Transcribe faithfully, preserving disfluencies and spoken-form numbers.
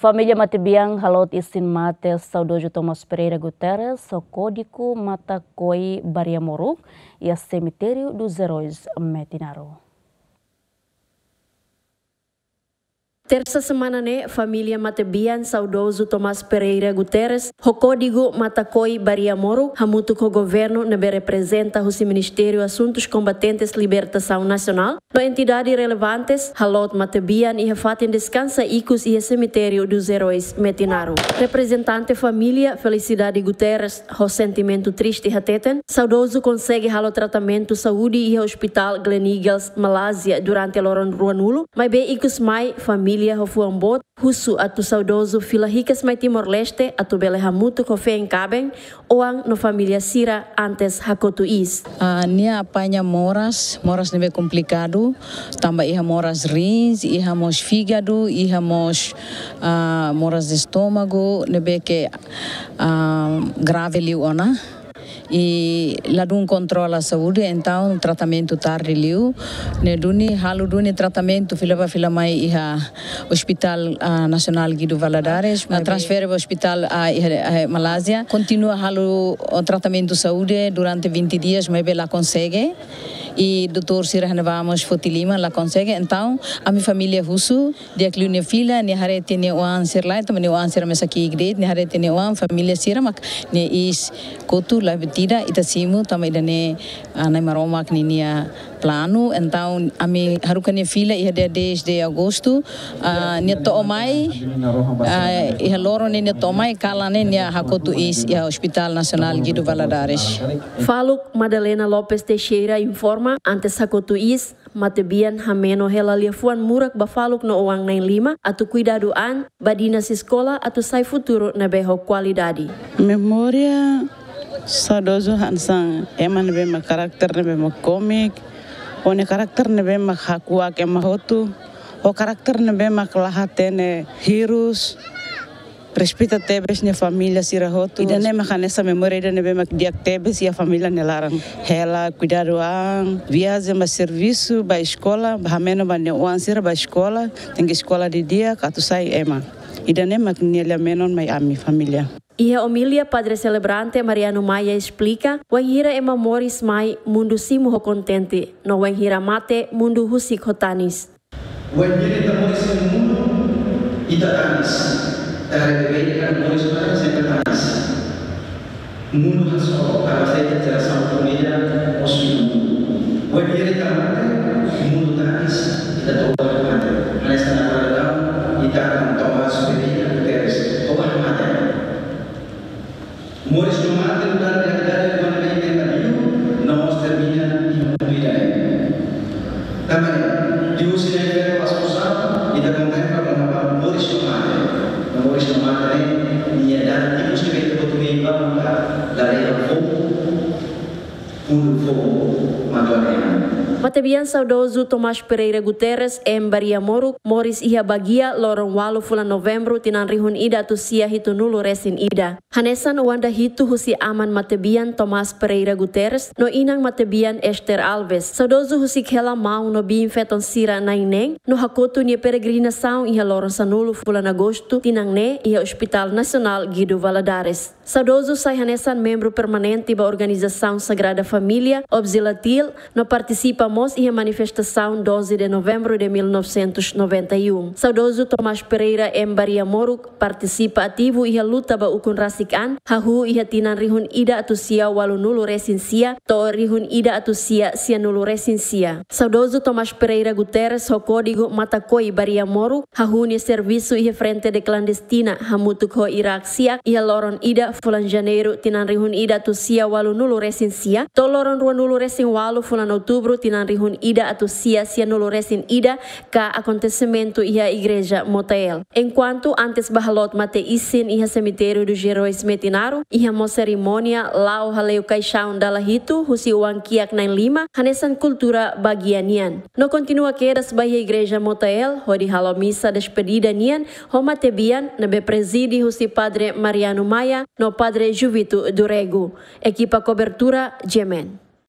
Família matebian haloot isin mate saudozu Tomás Pereira Guterres ho kódigu Matakoi Bariamoruk iha Semitériu dos Heróis Metinaro. Tersa semana ne'e, família matebian saudozu Tomás Pereira Guterres ho kódigu Matakoi Bariamoruk hamutuk ho governu ne'ebé reprezenta husi Ministériu Asuntus Kombatentes Libertasaun Nasionál no entidade relevantes haloot matebian iha fatin deskansa ikus iha Semitériu dos Heróis Metinaro. Reprezentante família, Felicidade Guterres, ho sentimentu triste hateten, saudozu konsege halo tratamentu saúde iha Hospital Gleneagles, Malázia, durante loron ruanulu, maibé ikus mai família ho fuan boot husu atu saudozu fila hikas mai Timor-Leste atu bele hamutuk ho feen kaben, oan no família sira antes hakotu iis. Ah, nia apaña moras, moras ne'ebé komplikadu, tanba iha moras rins, iha mós fígadu, iha mós, ah, moras de estómagu, ne'ebé ke, ah, grave liu ona. I ladún kontrola saúde, entaun tratamentu tarde liu. Ne'e duni, halo duni tratamentu fila bá fila mai iha Hospital, ah, Nasionál Guido Valadares, ah, transfere ba hospital, ah, iha, ah, Malázia. Kontinua halo, ah, tratamentu saúde durante vinte dias, maibé la konsege. I doutór sira hanesan mós foti liman, la konsege. Entaun, ami família husu, di'ak liu nia fila, nia haree tiha nia oan sira lai, tanba nia oan sira mesak ki'ik de'it, nia haree tiha nia oan, família sira mak nia iis kotu, la buat ida, ita simu, tanba ida-ne'e, ah, Nai Maromak ninia planu. Entaun, ami haruka nia fila iha dia dez de agostu, ah, nia to'o mai, ah, iha loron ne'e nia to'o mai, kalan ne'e nia hakotu iis iha Hospital Nasionál Guido Valadares. Faluk Madalena Lopes Teixeira informa, antes hakotu iis, matebian hameno hela liafuan murak ba faluk no oan na'in-lima atu kuidadu an, bá dinas eskola atu sai futuru ne'ebé ho kualidade. Memória saudozu hanesan ema ne'ebé mak karakter ne'ebé mak kómiku, ho nia karakter ne'ebé mak hakuak ema hotu, ho karakter ne'ebé mak la hatene hirus, respeita tebes nia família sira hotu. Ida-ne'e mak hanesan memória ida ne'ebé mak di'ak tebes iha família nia laran. Hela kuidadu an, viajen ba servisu, ba eskola, ba hameno ba nia oan sira ba eskola, tenke eskola didi'ak atu sai ema. Ida-ne'e mak nia lia-menon mai ami família. Iha omilia, Padre Selebrante Mariano Maia esplika, wainhira ema moris mai, mundu simu ho kontente, no wainhira mate, mundu husik ho tanis. Wainhira ita moris iha mundu, ita tanis. Tanba ita moris mai sempre tanis. Mundu hasoru, tanba ita jerasaun família, mós iha mundu. Wainhira ita mate, mundu tanis, ita toba mate. Hanesan agora daudaun, ita akan Tomás Pereira Guterres, toba mate. Moris no mate, nu'udar realidade, no mate, no mate, no mós termina iha mundu ida-ne'e. Tanba ne'e, liuhusi ne'e, ita kontempla kona-ba moris no mate. No moris no mate ne'e, nia dada tipus de bento português ba maka, la leva fogo, mundu fogo, matu areia. Matebian saudozu Tomás Pereira Guterres, em Bariamoruk, moris iha Baguia, loron ualu fulan Novembru, tinan rihun ida atus sia hitunulu resin ida. Hanesan oan dahitu husi aman matebian Tomás Pereira Guterres, no inan matebian Esther Alves. Saudozu husik hela maun no biin-feton sira na'in-neen, no hakotu nia peregrinasaun iha loron sanulu fulan Agostu, tinan ne'e iha Hospital Nasionál Guido Valadares. Saudozu sai hanesan membru permanente ba organizasaun Sagrada Família, Obzilatil, no partisipa mós iha manifestasaun doze de Novembro de mil novecentos e noventa e um. Saudozu Tomás Pereira, em Bariamoruk, partisipa ativu iha luta ba ukun rasik an, hahú iha tinan rihun ida atus sia ualunulu resin sia, to'o rihun ida atus sia sianulu resin sia. Saudozu Tomás Pereira Guterres ho kódigu Matakoi Bariamoruk, hahú nia servisu iha Frente de Clandestina, hamutuk ho Irak Siak, iha loron ida fulan Janeiru, tinan rihun ida atus sia ualunulu resin sia, to'o loron ruanulu resin ualu fulan Outubru, tinan rihun ida atus sia sianulu resin ida, ka akontesimentu iha Igreja Motael. Enkuantu antes ba haloot mate isin iha Semitériu dos Heróis Metinaro, iha mós serimónia la'o hale'u kaixaun dala hitu husi oan kiak na'in-lima, hanesan kultura Baguia nian. No kontinua kedas ba iha Igreja Motael, hodi halo misa despedida nian ho matebian ne'ebé prezide husi Padre Mariano Maia no Padre Juvito do Rego. Ekipa kobertura, G M N.